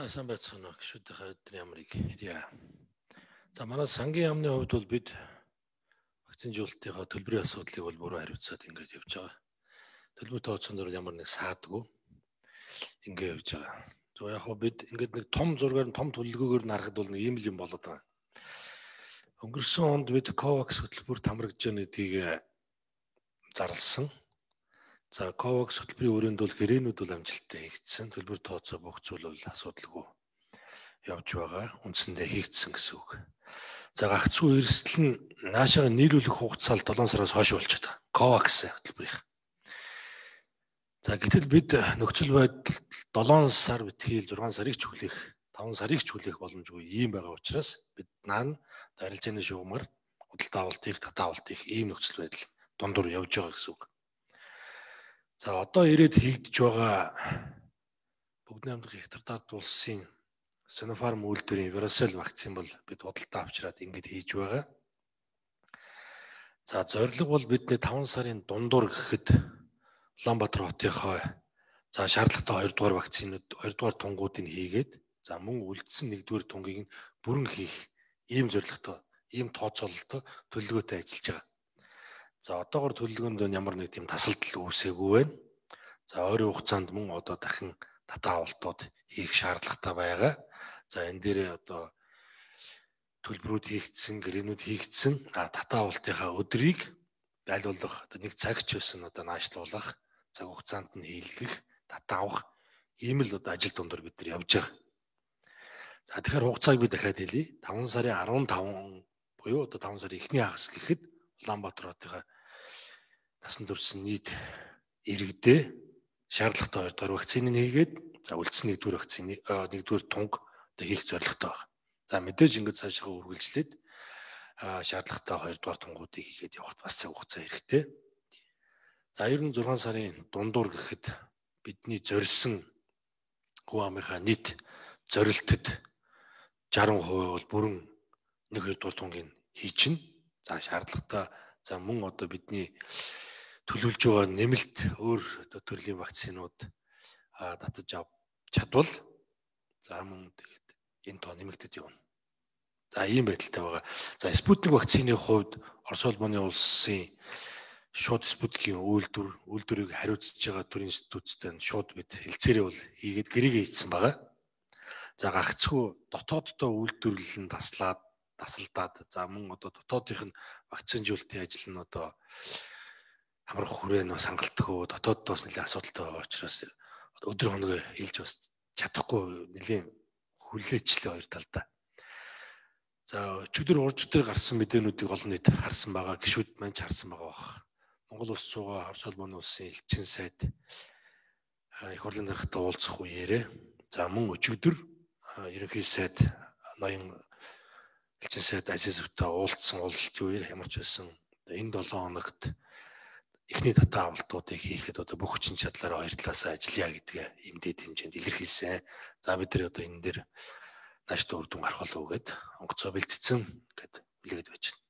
Сайн байцгаана уу гişүүдийнхээ өдрийн ямрыг хэлье. За манай сангийн яамны хувьд бол бид вакцинжуулалтынхаа төлбөрийн асуудлыг бол бүрэн хариуцаад ингэж явж байгаа. Төлбөр тооцоон дээр ямар нэг саадгүй ингэ явж байгаа. Зөв яг хөө бид ингээд нэг том зургаар нь том төлөвлөгөөр нь харахад бол нэг ийм л юм болоод байгаа. Өнгөрсөн онд бид COVAX хөтөлбөр тамрагдж байгаа гэдгийг зарласан. За COVAX хөтөлбөрийн өрөөнд бол гэрээнүүд бол амжилттай хийгдсэн. Төлбөр тооцоо бүх зүйл бол асуудалгүй явж байгаа. Үндсэндээ хийгдсэн гэсэн үг. За гагцхүү эрсдэл нь наашаага нийлүүлэх хугацаа 7 сараас хойш болчиход байгаа. COVAX хөтөлбөрийнх. За гэтэл бид нөхцөл байдал 7 сар битгий 6 сарыг ч хүлээх, 5 сарыг ч хүлээх боломжгүй ийм байгаа учраас бид наан арилжааны шугамар худалдаа авалтыг, татаа авалтыг ийм нөхцөл байдал дундуур явж байгаа гэсэн үг. За одоо ирээд хийгдэж байгаа бүгд найрамдах хятадд улсын Sinopharm үйлдвэрийн Verocell вакцин бол бид худалдаа авчираад ингэж хийж байгаа. За зорилго бол бидний 5 сарын дундуур гэхэд Улаанбаатар хотынхоо за шаардлагатай 2 дугаар вакцинууд 2 дугаар тунгуудыг хийгээд за мөн үлдсэн 1 дугаар тунгийг бүрэн хийх ийм зорилготой, ийм тооцоололтой төлөвлөгөөтэй ажиллаж байгаа. За одоогор төлөвлөгөөнд ямар нэг тийм тасалдал үүсээгүй байна. За ойрын хугацаанд мөн одоо дахин татаа авалтууд хийх шаардлагатай байгаа. За энэ дээрээ одоо төлбөрүүд хийгдсэн, гэрээнүүд хийгдсэн, татаа авалтынхаа өдрийг байлуулах одоо нэг цаг ч байсан одоо наашлуулах, цаг хугацаанд нь хийлгэх, татаа авах ийм л одоо ажил дундор бид нар явж байгаа. За тэгэхээр хугацааг би дахиад хэлье. 5 сарын 15 буюу одоо 5 сарын эхний хагас гэхэд Улаанбаатар хотынхаа насан туршийн нийт иргэдээ шаардлагатай 2 дугаар вакциныг хийгээд за үлдсэн 1 дугаар вакцины 1 дугаар тунг одоо хийх зорилготой байна. За мэдээж ингэж цаашаа үргэлжлээд шаардлагатай 2 дугаар тунгуудыг хийгээд явахд бас цаг хугацаа хэрэгтэй. За ер нь 6 сарын дундуур гэхэд бидний зорьсон хүн амынхаа нийт зорилтод 60% бол бүрэн 1-2 дугаар тунгийг хийчихнэ. За шаардлагатай за мөн одоо бидний төлөвлөж байгаа нэмэлт өөр төрлийн вакцинууд татаж авч чадвал за мөн тэгээд энэ тоо нэмэгдэж явна. За ийм байдалтай байгаа. За Спутник вакцины хувьд Орос улбаны улсын шууд Спутникийн үйлдвэрийг хариуцж байгаа төр институттай шууд бид хэлцээрээ бол хийгээд гэрээгээ хийцэн байгаа. За гагцхүү дотооддоо үйлдвэрлэл нь тасалдаад за мөн одоо дотоодынх нь вакцинжуулалтын ажил нь одоо хамрах хүрээн хангалтгүй дотооддоос нэлээд асуудалтай байгаа учраас өдөр хоног хэлж бас чадахгүй нэлээд хүлээчлээ хоёр талдаа. За өчигдөр урж дээр гарсан мэдээнүүдийг олон нийт харсан байгаа, гишүүд маань ч харсан байгаа бах. Монгол улс суугаа Орос улбаны улсын элчин сайд их хурлын даргатай уулзах үеэрээ за мөн өчигдөр ерөнхий сайд ноён элчин сайд Азизовтай уулзсан уулзалтын үеэр ямар ч байсан энэ 7 хоногт эхний татаа авалтуудыг хийхэд одоо бүх хүчин чадлаараа хоёр талаасаа ажиллая гэдгээ эмдээд хэмжээнд илэрхийлсэн. За бид нар одоо энэ дээр нааштай үр дүн гарах болов уу гэд онгоцоо бэлтцсэн гэд үлээгээд байж байна.